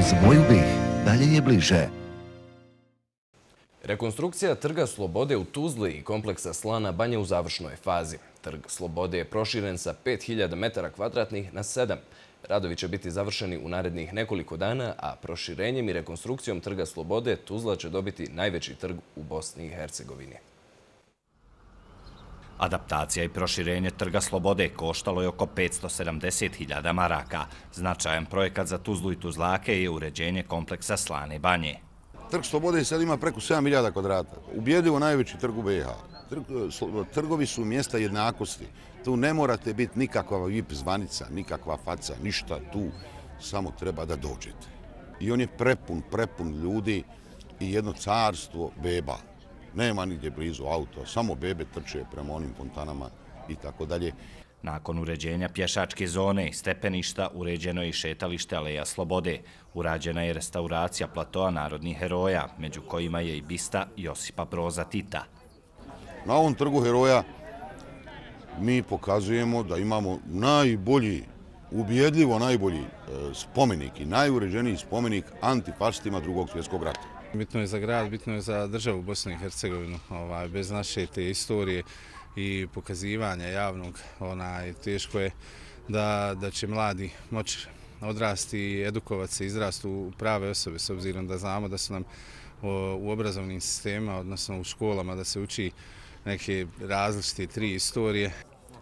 Uz moju BiH dalje je bliže. Rekonstrukcija Trga Slobode u Tuzli i kompleksa Slana Banja u završnoj fazi. Trg Slobode je proširen sa 5000 metara kvadratnih na 7. Radovi će biti završeni u narednih nekoliko dana, a proširenjem i rekonstrukcijom Trga Slobode Tuzla će dobiti najveći trg u Bosni i Hercegovini. Adaptacija i proširenje Trga Slobode koštalo je oko 570.000 maraka. Značajan projekat za Tuzlu i Tuzlake je uređenje kompleksa Slane Banje. Trg Slobode sad ima preko 7.000 kvadrata. Ubjedljivo najveći trg u BiH. Trgovi su mjesta jednakosti. Tu ne morate biti nikakva VIP zvanica, nikakva faca, ništa tu. Samo treba da dođete. I on je prepun ljudi i jedno carstvo beba. Nema nigdje blizu auto, samo bebe trče prema onim fontanama i tako dalje. Nakon uređenja pješačke zone i stepeništa, uređeno je i šetalište Aleja Slobode. Urađena je restauracija platoa narodnih heroja, među kojima je i bista Josipa Broza Tita. Na ovom trgu heroja mi pokazujemo da imamo najbolji, ubjedljivo najbolji spomenik i najuređeniji spomenik antifašistima Drugog svjetskog rata. Bitno je za grad, bitno je za državu Bosnu i Hercegovinu. Bez naše te istorije i pokazivanja javnog, teško je da će mladi moći odrasti i edukovati se, izrasti u prave osobe, s obzirom da znamo da su nam u obrazovnim sistemima, odnosno u školama, da se uči neke različite 3 istorije.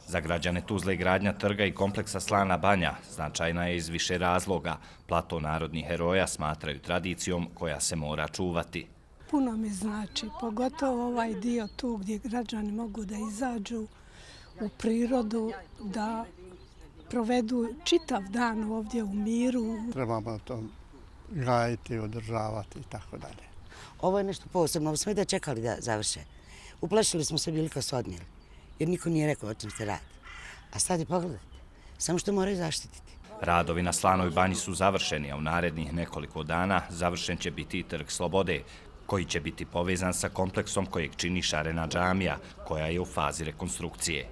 Za građane Tuzle gradnja trga i kompleksa Slana Banja značajna je iz više razloga. Plato narodnih heroja smatraju tradicijom koja se mora čuvati. Puno mi znači, pogotovo ovaj dio tu gdje građani mogu da izađu u prirodu, da provedu čitav dan ovdje u miru. Trebamo to gajiti, održavati i tako dalje. Ovo je nešto posebno, ovo smo i da čekali da završe. Uplašili smo se bili kad su odnijeli, jer niko nije rekao o čem se radi. A sad je pogledajte, samo što moraju zaštititi. Radovi na Slanoj Banji su završeni, a u narednih nekoliko dana završen će biti i Trg Slobode, koji će biti povezan sa kompleksom kojeg čini Šarena džamija, koja je u fazi rekonstrukcije.